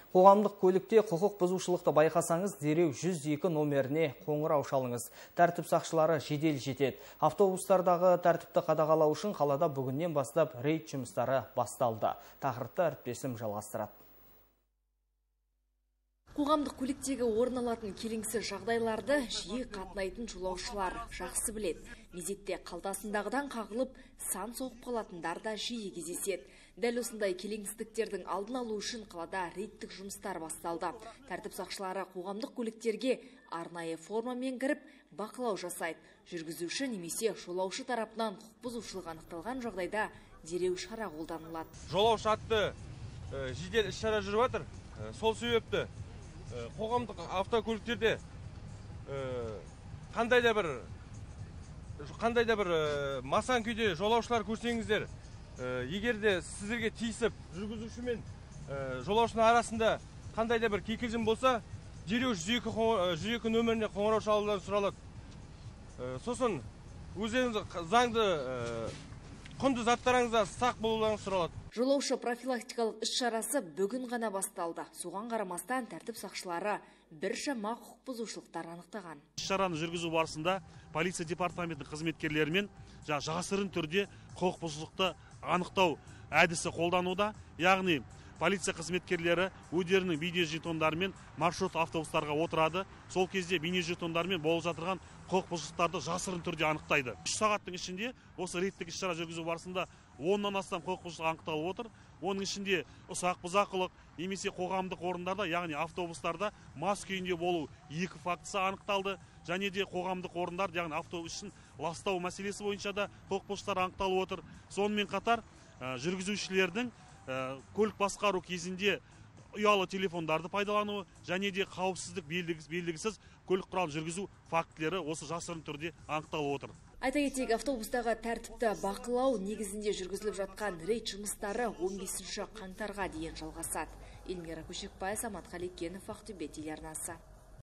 Қоғамдық көлікте құқық бұзушылықты байқасаңыз, дереу 102 номеріне қоңырау шалыңыз. Тәртіп сақшылары жедел жетеді. Автобустардағы тәртіпті қадағалау үшін қалада бүгіннен бастап рейд жұмыстары басталды. Тақырыпты әріптесім жалғастырады. Қоғамдық көліктегі орын алатын келеңсіз жағдайларды жиі қатынайтын жолаушылар жақсы біледі. Мезетте қалтасындағыдан қағылып, сан соғып қалатындар да жиі кездеседі. Дәл осындай келеңсіздіктердің алдын алу үшін қалада рейдтік жұмыстар басталды. Тәртіп сақшылары қоғамдық көліктерге арнайы формамен кіріп, бақылау жасайды. Жүргізуші немесе жолаушы тарапынан құқық бұзушылық анықталған жағдайда дереу шара қолданылады. Жолаушы атты жедел іс-шара жүріп жатыр. Сол себепті қоғамдық автокөліктерде қандай да бір масан күйде жолаушылар көрсеңіздер, егер де сіздерге тиісіп жүргізуші мен жолаушының арасында қандай да бір кикілжің болса, дереу 102 нөміріне қоңырау шалудан сұралады. Сосын өздеріңіз заңды құнды заттарыңызда сақ болуларыңыз сұралады. Жолаушы профилактикалық іс-шарасы бүгін ғана басталды. Соған қарамастан тәртіп сақшылары біршама құқық бұзушылықтар анықтаған. Іс-шараны жүргізу барысында полиция департаментінің қызметкерлерімен жасырын түрде құқық бұзушылықты анықтау әдісі қолдануда. Яғни полиция қызметкерлері өздерінің бейнежетондарымен маршрут автобустарға отырады. Сол кезде бейнежетондарымен болып жатырған құқық бұзушылықтарды жасырын түрде анықтайды. 3 сағаттың ішінде осы рейдтік іс-шара жүргізу барысында 10-нан астам құқық бұзушылық анықталып отыр. Оның ішінде ұсақ бұзақылық немесе қоғамдық орындарда, яғни автобустарда мас күйінде болу 2 фактісі анықталды. Және де қоғамдық орындар, яғни автобустың ластау мәселесі бойынша да құқық бұзушылықтар анықталып отыр. Сонымен қатар жүргізушілердің көлік басқару кезінде ұялы телефондарды пайдалану және де қауіпсіздік белгісіз көлік құралын жүргізу фактілері осы жасырын түрде анықталып отыр. Айта кетейік, автобустағы тәртіпті бақылау негізінде жүргізіліп жатқан рейд жұмыстары 15 қаңтарға дейін жалғасады. Эльмира Көшекбай, Самат Қалекенов, Ақтөбе телеарнасы.